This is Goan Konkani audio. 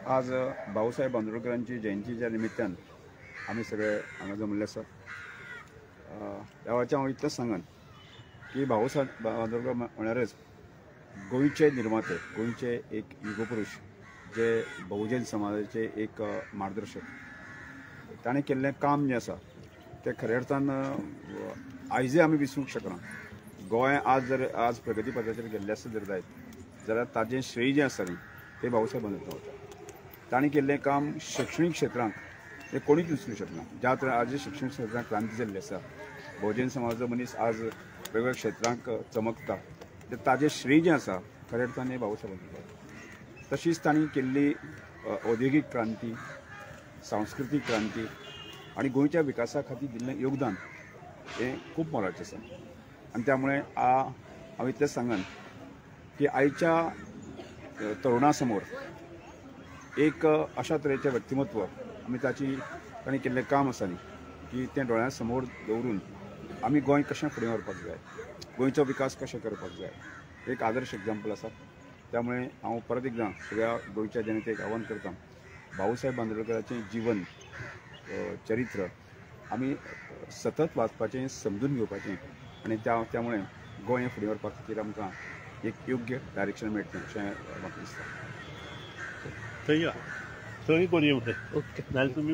आज भाऊसाहेब बांदोडकरांची जयंतीच्या निमित्तान आमी सगळे हांगा जमले आसात. ह्या वेळाचें हांव इतलेंच सांगन की भाऊसाहेब बांदोडकर म्हळ्यारच गोंयचे निर्माते, गोंयचे एक युगपुरुष, जे बहुजन समाजाचे एक मार्गदर्शक. ताणें केल्लें काम जें आसा तें खऱ्या अर्थान आयजय आमी विसरूंक शकना. गोंय आज जर आज प्रगती पथाचेर गेल्लें आसा जर जायत जाल्यार ताजें श्रेय जें आसा न्ही तें भाऊसाहेब बांदोडकर वता. ताणें केल्लें काम शिक्षणीक क्षेत्रांत हें कोणीच विसरूंक शकना. ज्या तरेन आज शिक्षणीक क्षेत्रांत क्रांती जाल्ली आसा, बहुजन समाजाचो मनीस आज वेगवेगळ्या क्षेत्रांक चमकता, ते ताजें श्रेय जें आसा खऱ्या अर्थान हें भाऊसाहेब बांदोडकर. तशीच तांणी केल्ली औद्योगीक क्रांती, सांस्कृतीक क्रांती आनी गोंयच्या विकासा खातीर दिल्लें योगदान हें खूब मोलाचें आसा. आनी त्यामुळे हांव इतलेंच सांगन की आयच्या तरुणा समोर एक अशा तरेचें व्यक्तिमत्व आमी ताची ताणें केल्लें काम आसा न्ही की तें दोळ्यां समोर दवरून आमी गोंय कशें फुडें व्हरपाक जाय, गोंयचो विकास कशें करपाक जाय, एक आदर्श एग्जाम्पल आसा. त्यामुळे हांव परत एकदां सगळ्या गोंयच्या जनतेक आव्हान करता, भाऊसाहेब बांदोडकराचें जीवन चरित्र आमी सतत वाचपाचें, समजून घेवपाचें आनी त्यामुळे गोंय फुडें व्हरपा खातीर आमकां एक योग्य डायरेक्शन मेळटलें अशें म्हाका दिसता. थंय थंय करूया. ओके, नाल्यार तुमी.